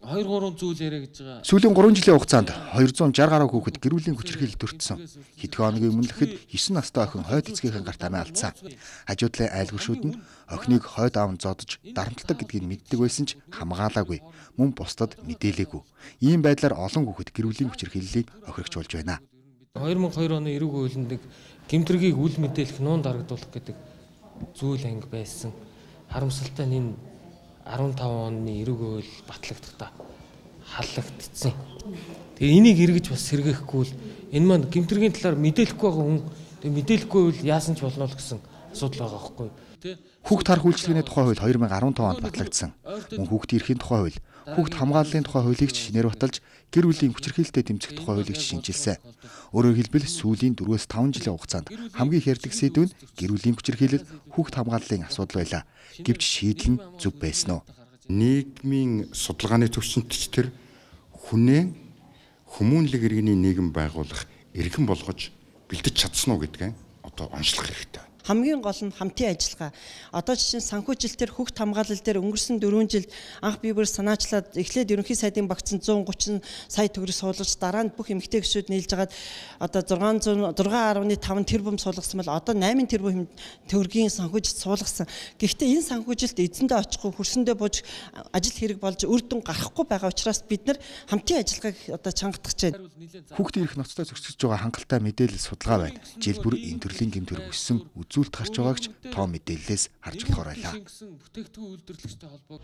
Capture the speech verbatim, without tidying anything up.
хоёр гурван зүйл яриа гэж байгаа. Сүүлийн гурван жилийн хугацаанд двухсад шарх гаруй хүүхэд гэр бүлийн хүчирхийлэлд өртсөн. Хэдхэн хоногийн өмнө л хэд есөн настай охин хойд эцгийнхэн гарт амиа алдсан. Хажуудлын айлгууршүүд нь охиныг хойд аав нь зодож дарамтлагдаг гэдгийг мэддэг байсан ч хамгаалаагүй. Мөн бусдад мэдээлээгүй. Ийм байдлаар олон хүүхэд гэр бүлийн хүчирхийллийг охирогч болж байна. хоёр мың хоёр оны эрүүг хуулинд нэг гэмтргийг үл мэдээлэх нуун дарагдуулах гэдэг зүйл анги байсан. Харамсалтай нь энэ арван таван оны эрүүг хууль батлагдахтаа халлагдсан. Тэгээ энийг эргэж бас сэргээхгүй л энэ маань гэмтргийн талаар мэдээлэхгүй байгаа хүн тэгээ мэдээлэхгүй бол яасан ч болно л гэсэн асуудал байгаа байхгүй. Хүүхд хар үйлчлэгээний тухай хууль хоёр мың арван таван онд батлагдсан. Мөн хүүхдийн эрхийн тухай хууль, хүүхд хамгааллын тухай хуулийг ч шинээр баталж гэр бүлийн хүчирхийлэлтэд тэмцэх тухай хуулийг ч шинжилсэн. Өөрөөр хэлбэл сүүлийн дөрвөөс таван жилийн хугацаанд хамгийн их ярддаг сэдв нь гэр бүлийн хүчирхийлэл, хүүхд хамгааллын асуудал байлаа. Гэвч шийдэл нь зөв байсан уу? Нийгмийн судалгааны төвчөнд ч тэр хүнээ хүмүүнлэг иргэний нийгэм байгуулах иргэн болгож бэлдэж чадсан уу гэдгээ одоо онцлох хэрэгтэй. Хамгийн гол нь хамтын ажиллагаа. Одоо жишээ нь санхүүжилтээр хүүхд хамгаалал дээр өнгөрсөн дөрвөн жилд анх бие бүр санаачлаад эхлээд ерөнхий сайдын багцсан зуун гучин сая төгрөг суулгаж дараа нь бүх эмэгтэй гишүүд нийлж хагаад одоо зургаан арван таван тэрбум суулгасан бол одоо найман тэрбум төгрөгийн санхүүжилт суулгасан. Гэхдээ энэ санхүүжилт эзэндээ очихгүй хөрсөндөө бууж ажил хэрэг болж үр дүн гарахгүй байгаа учраас бид нар хамтын ажиллагааг одоо чангатгаж байна. Хүүхдийн эрх ноцтой зөрчиж байгаа хангалттай мэдээлэл судалгаа байна. Жил бүр энэ төрлийн гэмтэр өссөн үзүүлэлт гарч байгаагч тоо мэдээллээс харж болохоор байлаа. Бүтээгдэхүүн үйлдвэрлэгчтэй холбоо